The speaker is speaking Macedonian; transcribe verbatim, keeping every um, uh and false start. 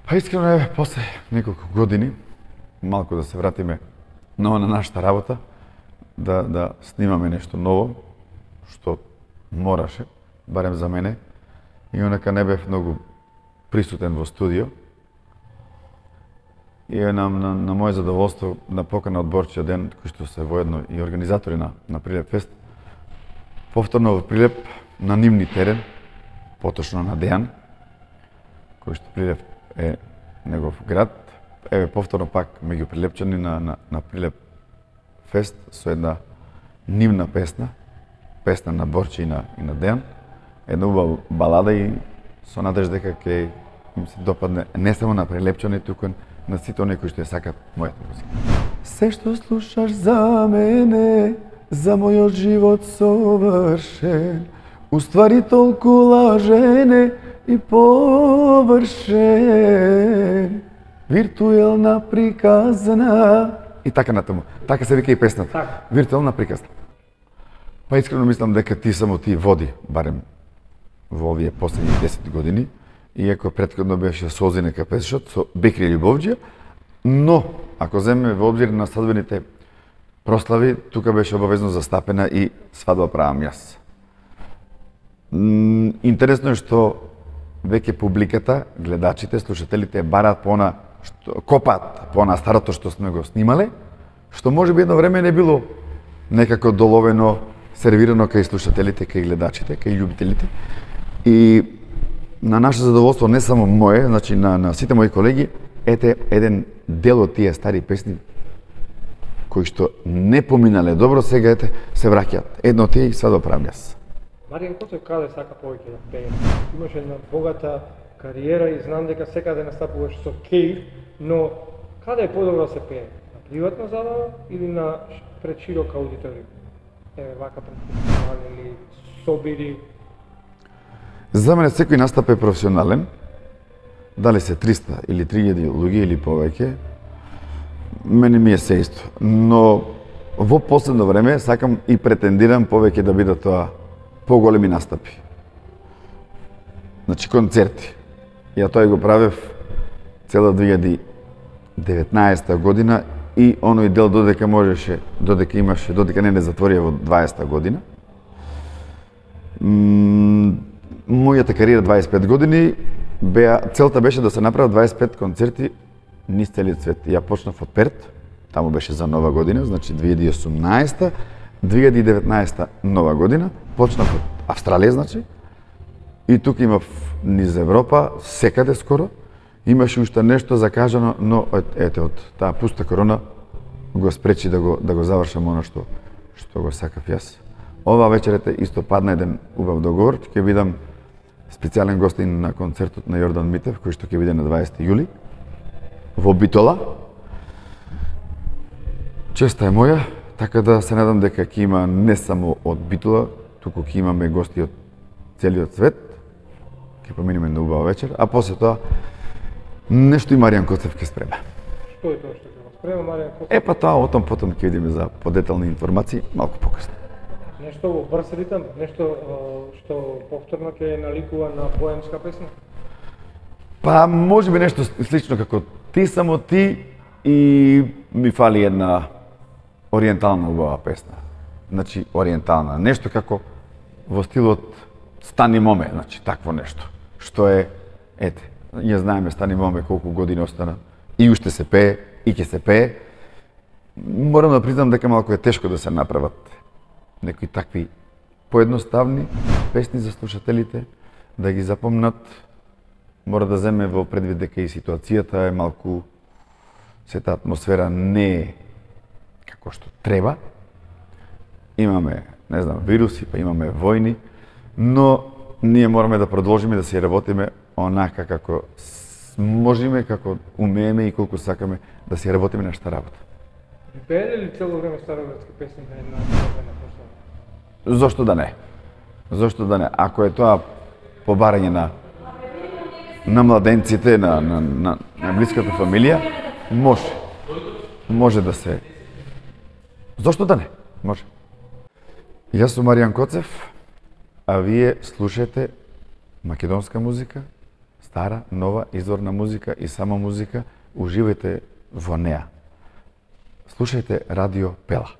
Па искрено е, после неколку години, малку да се вратиме ново на нашата работа, да, да снимаме нешто ново, што мораше, барем за мене, и онака не бев многу присутен во студио. И е на, на, на моје задоволство на покана од Борчија ден, кој што се воедно и организатори на, на Прилеп Фест, повторно во Прилеп на нивни терен, поточно на Дејан, кој што Прилеп е негов град, еве повторно пак меѓу прилепчани на, на, на Прилеп Фест со една нивна песна, песна на Борчи и на, и на Дејан, една убава балада и со надеж дека ќе им се допадне не само на прилепчани, туку на сите оние кои што ја сакат мојата музика. Се што слушаш за мене, за мојот живот совршен, уствари толку лажене и површен, виртуелна приказна. И така натаму. Така се вика и песната. Так. Виртуелна приказна. Па искрено мислам дека ти само ти води, барем во овие последни десет години, иако претходно беше Созинека песшот со Бекри Љубовџија, но ако земеме во обзир на свадбените прослави, тука беше обавезно застапена и Свадба правам јас. Интересно е што веќе публиката, гледачите, слушателите бараат по она што копаат по она старото што сме го снимале, што можеби едно време не било некако доловено, сервирано кај слушателите, кај гледачите, кај љубителите. И на наше задоволство, не само мое, значи на, на сите мои колеги, ете еден дел од тие стари песни кои што не поминале добро, сега ете се враќаат. Едно од тие и Свадба правам јас. Маријан Коцев каде сака повеќе да пее? Имаш една богата кариера и знам дека секаде настапуваш со Кеј, но каде е подобро да се пее? На приватна забава или на пред широк аудиториум? Еве вака пред фестивали или собири? За мене секој настап е професионален. Дали се триста или три илјади луѓе или повеќе, мене ми е се исто. Но во последно време сакам и претендирам повеќе да бидат тоа поголеми настапи. Значи концерти. Ја тоа го правев цела две илјади деветнаесета година и оној дел додека можеше, додека имаше, додека не не затворија во дваесета година. Мојата кариера дваесет и пет години, беа, целта беше да се направат дваесет и пет концерти низ целиот свет. Ја почнав од Перт, таму беше за Нова година, значи две илјади и осумнаесета, две илјади и деветнаесета Нова година, почнав од Австралија, значи, и тука имав низ Европа, секаде скоро, имаше уште нешто закажано, но ете од таа пуста корона го спречи да го да го завршам она што што го сакав јас. Ова вечерете исто падна еден убав договор, ќе бидам специјален гостин на концертот на Јордан Митев, кој што ќе биде на дваесети јули во Битола. Честа е моја, така да се надам дека ќе има не само од Битола, туку ќе имаме гости од целиот свет. Ќе поминеме на убава вечер, а после тоа нешто и Маријан Коцев ќе спрема. Што е тоа што ќе го спрема Маријан Коцев? Е па тоа отом потом ќе видиме за подетални информации малку покасно. Нешто во брз ритам, нешто што повторно ќе наликува на поемска песна? Па можеби нешто слично како Ти само ти и ми фали една ориентална убава песна. Значи ориентална, нешто како во стилот Стани моме, значи такво нешто. Што е, ете, ја знаеме Стани моме колку години остана и уште се пее и ќе се пее. Морам да признам дека малку е тешко да се направат некои такви поедноставни песни за слушателите, да ги запомнат. Мора да земе во предвид дека и ситуацијата е малку, сета атмосфера не е како што треба. Имаме, не знам, вируси, па имаме војни, но ние мораме да продолжиме да се работиме онака како можеме, како умееме и колку сакаме да се работиме нашата работа. Пееле ли цело време староградски песни на една собствена прослава? Зошто да не? Зошто да не? Ако е тоа побарање на на младенците, на, на, на, на блиската фамилија, може. Може да се... Зошто да не? Може. Јас сум Маријан Коцев, а вие слушате македонска музика, стара, нова, изворна музика и сама музика, уживајте во неа. Слушајте Радио Пела.